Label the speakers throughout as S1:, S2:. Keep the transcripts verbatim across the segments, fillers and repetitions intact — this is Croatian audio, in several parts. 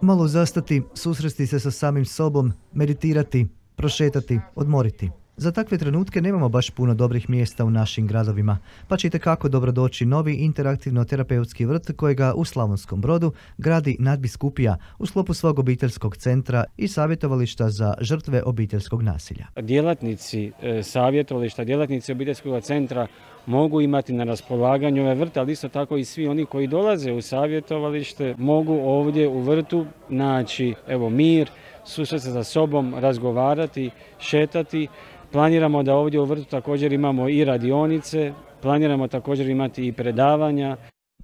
S1: Malo zastati, susresti se sa samim sobom, meditirati, prošetati, odmoriti. Za takve trenutke nemamo baš puno dobrih mjesta u našim gradovima, pa će itekako dobro doći novi interaktivno-terapeutski vrt kojega u Slavonskom Brodu gradi nadbiskupija u sklopu svog obiteljskog centra i savjetovališta za žrtve obiteljskog nasilja.
S2: Djelatnici e, savjetovališta, djelatnici obiteljskog centra mogu imati na raspolaganju ove vrte, ali isto tako i svi oni koji dolaze u savjetovalište mogu ovdje u vrtu naći evo, mir, susresti se sa sobom, razgovarati, šetati. Planiramo da ovdje u vrtu također imamo i radionice, planiramo također imati i predavanja.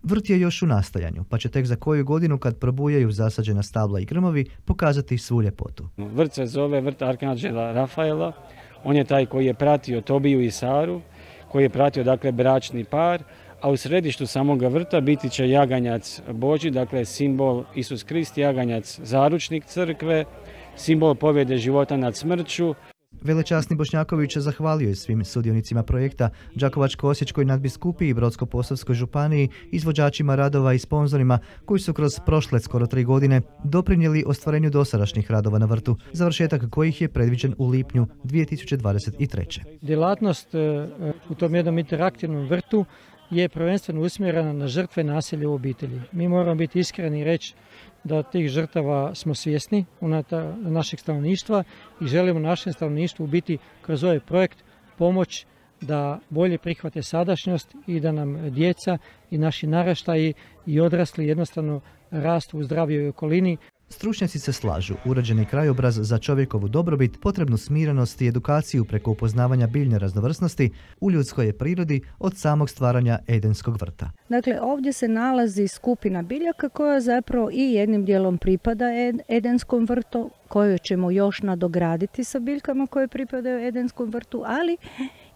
S1: Vrt je još u nastajanju, pa će tek za koju godinu kad probujaju zasađena stabla i grmovi pokazati svu ljepotu.
S2: Vrt se zove vrt Arkanđela Rafaela, on je taj koji je pratio Tobiju i Saru, koji je pratio dakle bračni par, a u središtu samoga vrta biti će jaganjac Božji, dakle simbol Isus Krist, jaganjac zaručnik crkve, simbol pobjede života nad smrću.
S1: Velečasni Bošnjaković zahvalio je svim sudionicima projekta, Đakovačko-osječkoj nadbiskupiji i Brodsko-posavskoj županiji, izvođačima radova i sponzorima koji su kroz prošle skoro tri godine doprinijeli ostvarenju dosadašnjih radova na vrtu, završetak kojih je predviđen u lipnju dvije tisuće dvadeset treće.
S3: Djelatnost u tom jednom interaktivnom vrtu je prvenstveno usmjerena na žrtve nasilja u obitelji. Mi moramo biti iskreni i reći da tih žrtava smo svjesni unutar našeg stanovništva i želimo našem stanovništvu biti kroz ovaj projekt pomoć da bolje prihvate sadašnjost i da nam djeca i naši naraštaji i odrasli jednostavno rastu u zdravijoj okolini.
S1: Stručnjaci se slažu, uređeni krajobraz za čovjekovu dobrobit, potrebnu smirenost i edukaciju preko upoznavanja biljne raznovrsnosti u ljudskoj je prirodi od samog stvaranja Edenskog vrta.
S4: Dakle, ovdje se nalazi skupina biljaka koja zapravo i jednim dijelom pripada Edenskom vrtu, koju ćemo još nadograditi sa biljkama koje pripadaju Edenskom vrtu, ali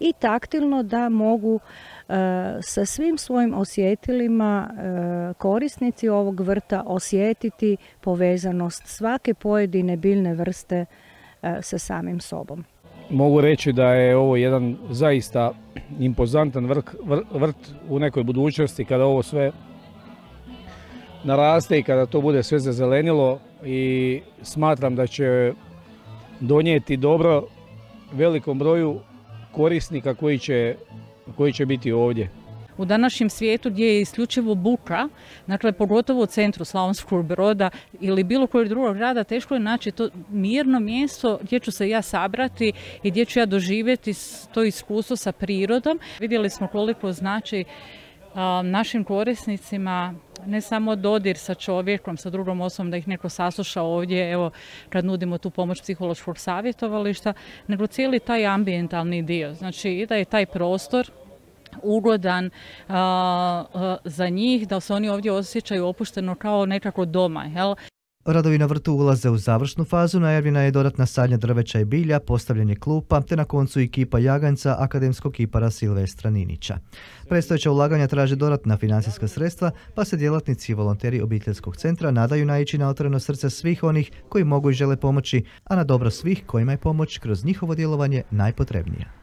S4: i taktilno da mogu e, sa svim svojim osjetilima e, korisnici ovog vrta osjetiti povezanost svake pojedine biljne vrste e, sa samim sobom.
S5: Mogu reći da je ovo jedan zaista impozantan vrt, vrt u nekoj budućnosti kada ovo sve naraste i kada to bude sve zazelenilo, i smatram da će donijeti dobro velikom broju korisnika koji će, koji će biti ovdje.
S6: U današnjem svijetu gdje je isključivo buka, dakle pogotovo u centru Slavonskog Broda ili bilo kojeg drugog grada, teško je naći to mirno mjesto gdje ću se ja sabrati i gdje ću ja doživjeti to iskustvo sa prirodom. Vidjeli smo koliko znači a, našim korisnicima ne samo dodir sa čovjekom, sa drugom osobom, da ih neko sasluša ovdje, evo kad nudimo tu pomoć psihološkog savjetovališta, nego cijeli taj ambijentalni dio. Znači i da je taj prostor ugodan a, a, za njih, da se oni ovdje osjećaju opušteno kao nekako doma. Jel?
S1: Radovi na vrtu ulaze u završnu fazu, najavljena je dodatna sadnja drveća i bilja, postavljanje klupa, te na koncu i kipa jaganjca akademskog kipara Silvestra Ninića. Predstojeća ulaganja traže dodatna financijska sredstva, pa se djelatnici i volonteri obiteljskog centra nadaju naići na otvoreno srce svih onih koji mogu i žele pomoći, a na dobro svih kojima je pomoć kroz njihovo djelovanje najpotrebnija.